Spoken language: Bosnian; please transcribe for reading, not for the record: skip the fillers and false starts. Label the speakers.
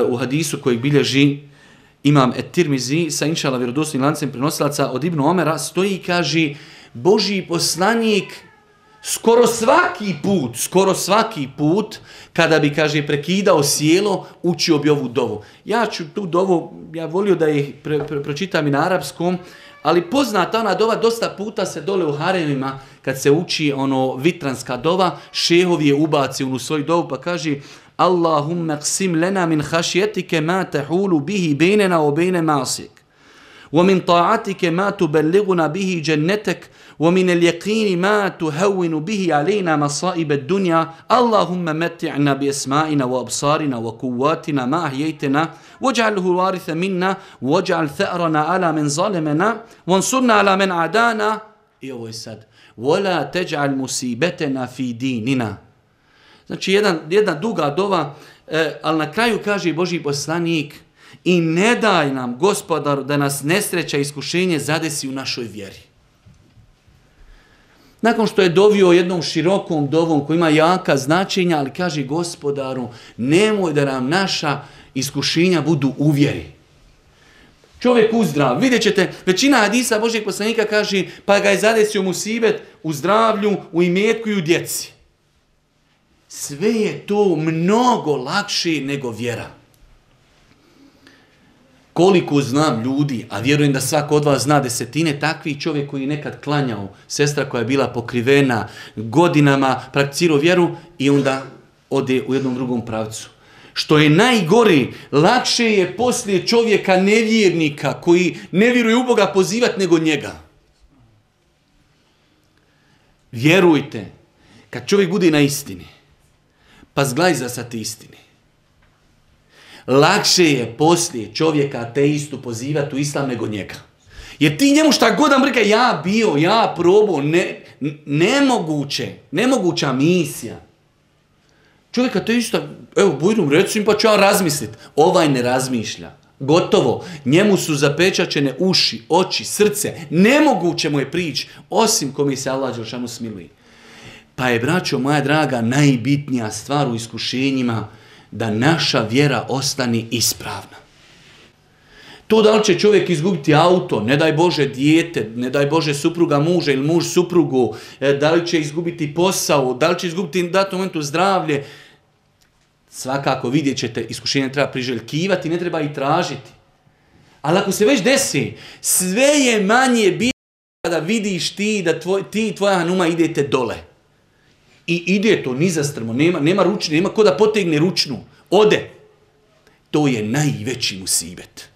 Speaker 1: u hadisu kojeg bilježi imam Et-Tirmizi sa inšala vjerodostojnim lancem prenosilaca od Ibn Omera stoji i kaže Božji poslanik skoro svaki put kada bi, kaže, prekidao sjelo, učio bi ovu dovu. Ja ću tu dovu, ja volio da ih pročitam i na arapskom, ali poznata ona dova, dosta puta se dole u haremima, kad se uči vitranska dova, šehovi je ubaci u svoju dovu pa kaže Allahumma qsim lana min hašjetike ma tahulu bihi bejnena o bejne masik. ومن طاعتك ما تبلغنا به جنتك ومن اليقين ما تهون به علينا مصائب الدنيا اللهم متعنا بأسمائنا وأبصارنا وقواتنا ما أحييتنا واجعله الوارث منا واجعل ثأرنا على من ظلمنا وانصرنا على من عادانا ولا تجعل مصيبتنا في ديننا. Znači jedna duga dova, ali na kraju kaže Božji poslanik i ne daj nam, Gospodaru, da nas nesreća i iskušenje zadesi u našoj vjeri. Nakon što je dovio jednom širokom dovom koji ima jaka značenja, ali kaže Gospodaru, nemoj da nam naša iskušenja budu u vjeri. Čovjek uzdrav. Vidjet ćete, većina hadisa Božjeg poslanika kaže pa ga je zadesio musibet u zdravlju, u imetku i u djeci. Sve je to mnogo lakše nego vjera. Koliko znam ljudi, a vjerujem da svako od vas zna desetine, takvih čovjek koji je nekad klanjao, sestra koja je bila pokrivena, godinama prakticirao vjeru i onda ode u jednom drugom pravcu. Što je najgori, lakše je poslije čovjeka nevjernika koji ne vjeruje u Boga pozivati nego njega. Vjerujte, kad čovjek bude na istini, pa zglajza sa te istine, lakše je poslije čovjeka ateistu pozivati u islam nego njega. Jer ti njemu šta god da mrka, ja probao, nemoguća misija. Čovjek ateista, evo bujrum recim pa ću ja razmisliti. Ovaj ne razmišlja. Gotovo. Njemu su zapečačene uši, oči, srce. Nemoguće mu je prići, osim kome se Allah dželešanu smiluje. Pa je, braćo moja draga, najbitnija stvar u iskušenjima da naša vjera ostane ispravna. To da li će čovjek izgubiti auto, ne daj Bože dijete, ne daj Bože supruga muža ili muž suprugu, da li će izgubiti posao, da li će izgubiti u datom momentu zdravlje, svakako vidjet ćete, iskušenje treba priželjkivati, ne treba i tražiti. Ali ako se već desi, sve je manje bitno kada vidiš ti da ti i tvoja hanuma idete dole. I ide to nizastrmo, nema ručne, nema ko da potegne ručnu. Ode. To je najveći musibet.